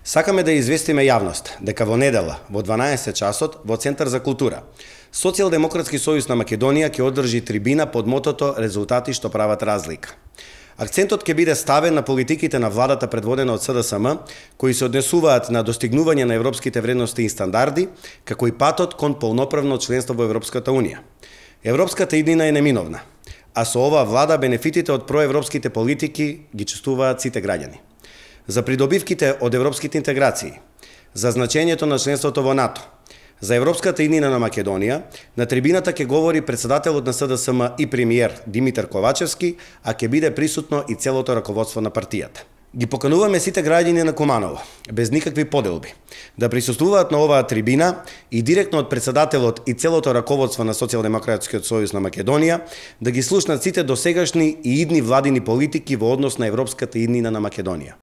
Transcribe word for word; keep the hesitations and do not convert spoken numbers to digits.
Сакаме да известиме јавност дека во недела во дванаесет часот во Центар за култура Социјалдемократски сојуз на Македонија ќе одржи трибина под мотото "Резултати што прават разлика". Акцентот ќе биде ставен на политиките на владата предводена од С Д С М, кои се однесуваат на достигнување на европските вредности и стандарди, како и патот кон полноправно членство во Европската Унија. Европската иднина е неминовна, а со оваа влада бенефитите од проевропските политики ги чувствуваат сите граѓани. За придобивките од европските интеграции, за значењето на членството во НАТО, за европската иднина на Македонија, на трибината ќе говори председателот на С Д С М и премиер Димитар Ковачевски, а ќе биде присутно и целото раководство на партијата. Ги покануваме сите граѓани на Куманово, без никакви поделби, да присуствуваат на оваа трибина и директно од председателот и целото раководство на Социјалдемократскиот сојуз на Македонија да ги слушнат сите досегашни и идни владини политики во однос на европската иднина на Македонија.